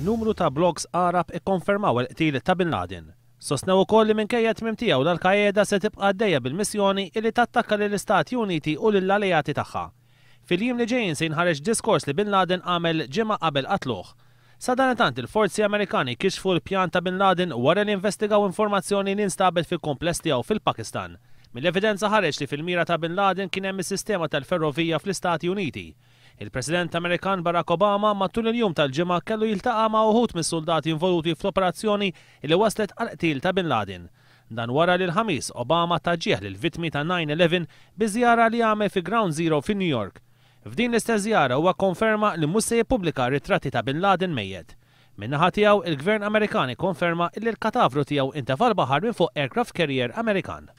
Numru ta' blogs Għarab ikkonfermaw il-qtil ta' Bin Laden. Sostnew ukoll li minkejja t-tmiem tiegħu l-Al-Qaeda se tibqa' għaddejja bil-missjoni illi tattakka lill-Istati Uniti u lill-alleati tagħha. Fil-jiem li ġejjin se jinħareġ diskors li Bin Laden għamel ġimgħa qabel qatluh. Sadanittant il-forzi Amerikani kixfu l-pjan ta' Bin Laden wara li investigaw informazzjoni li nstabet fil-kumpless tiegħu fil-Pakistan. Mill-evidenza ħareġ li fil-mira ta' Bin Laden kien hemm is-sistema tal-ferrovija fl-Istati Uniti. Il-President Amerikan Barack Obama matul il-jum tal-Ġimgħa kellu jiltaqa' ma' uħud mis-suldati involuti fl-operazzjoni li wasslet għall-qtil ta' Bin Laden. Dan wara li l-Ħamis Obama ta ġieħ lill-vittmi ta' 9/11 bi żjara li għamel fi Ground Zero fi New York. F'din l-istess żjara huwa kkonferma li mhux se jippubblika ritratti ta' Bin Laden mejjet. Min-naħa tiegħu, il-Gvern Amerikan ikkonferma illi l-katavru tiegħu intefa' l-baħar minn fuq aircraft carrier Amerikan.